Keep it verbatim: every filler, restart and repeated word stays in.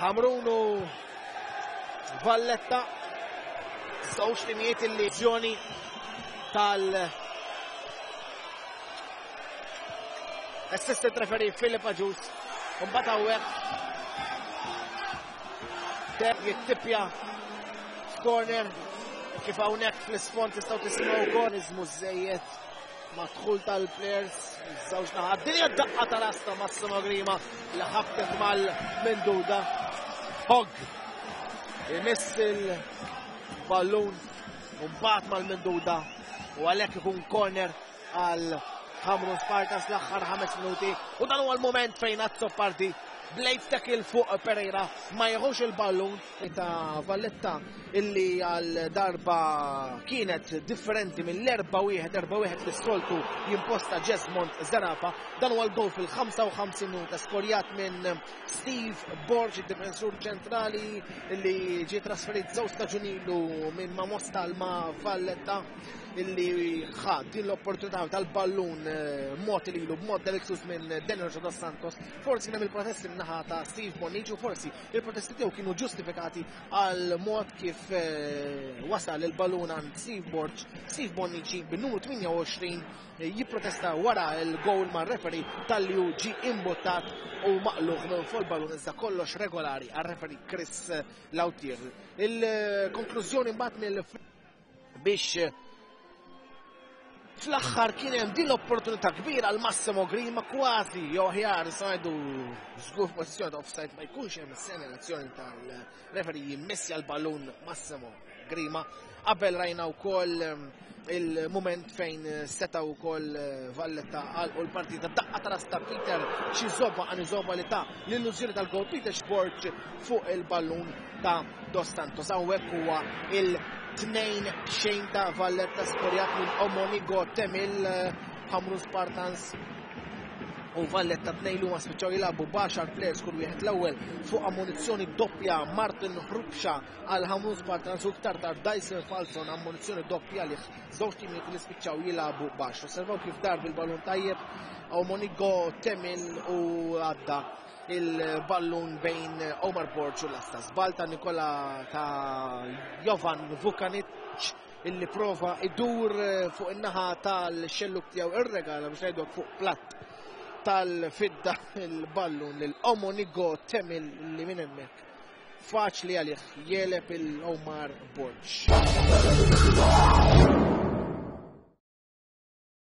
Ħamrun u Valletta, żewġ timijiet illi ġjoni tal assistant referee Philip Agius. Mbagħad hawnhekk jittipja f'corner kif hawnhekk fl-isfond tistgħu tisimgħu wkoll iżmu żejjed madħul tal-players żewġ naħat. Din hija daqqa ta' rasta Massimo Grima li ħabtet mal-Menduda. Hogg imiss il-ballun u mbagħad mal-Menduda u għalhekk ikun corner għal Ħamrun Spartans l-aħħar ħames minuti u dan huwa l-moment fejn Azzopardi blade tackle fuq Pereira ma jieħux il-ballun ta' Valletta illi għal darba kienet differenti mill-erba' wieħed erba' wieħed li soltu jimposta Jesmond Zerafa. Dan huwa l-goal fil-ħamsa u ħamsin minuta skorjat minn Steve Borg, id-difensur ċentrali illi ġie trasferit żewġ staġun ilu minn ma' Mosta ma' Valletta, illi ħa din l-opportunità tal-ballun mod lilu b'mod delizjuż minn Daniel Dos Santos. Forsi kien hemm il-protesti min-naħa ta' Steve Bonnici u forsi il-protesti tiegħu kienu ġustifikati għal mod kif wasal il-ballun għand Steve Borg. Steve Bonnici bin-numru tmienja u għoxrin jipprotesta wara l-goal mar-referee tal-li hu ġie imbuttat u maqluħ minn fuq il-ballun, iżda kollox regolari għar-referee Chris Lautier. Il-konklużjoni mbagħad mill biex fl-aħħar kien hemm din l-opportunità kbira għal Massimo Grima, kważi jew aħjar ngħidu żgur pożizzjoni ta' offside ma jkunx hemm is-segnalazzjoni tal-referee jimmissja l-ballun Massimo Grima. Qabel rajna wkoll il-moment fejn seta' wkoll Valletta għalqu l-partita, daqqa ta' rasta Peter Chizoba Anizoba li ta' l-illużjoni tal-gol Peter Borg fuq il-ballun ta' Dos Santos. Hawnhekk huwa il-tnejn xejn ta' Valletta skorjat minn Omonigo Temil. Ħamrun Spartans u Valletta tnejn li huma spiċċaw jilagħbu b'għaxar players kull wieħed. L-ewwel fuq ammunizzjoni doppja Martin Hrubxa għal Ħamrun Spartans u iktar tard Dyson Falzon ammunizzjoni doppja li żewġ timijiet li spiċċaw jilagħbu baxx. Osservaw kif dar bil-ballun tajjeb Omonigo Temil u għadda il-ballun bejn Omar Borg u lasta. Żball ta' Nikola ta' Jovan Vukanic illi prova idur fuq in-naħa tal-xelluk tiegħu, irregala biex ngħidu fuq platt tal-fidda il-ballun lil Omonigo Temil li minn hemmhekk faċli għalih jeleb il-Omar Borg.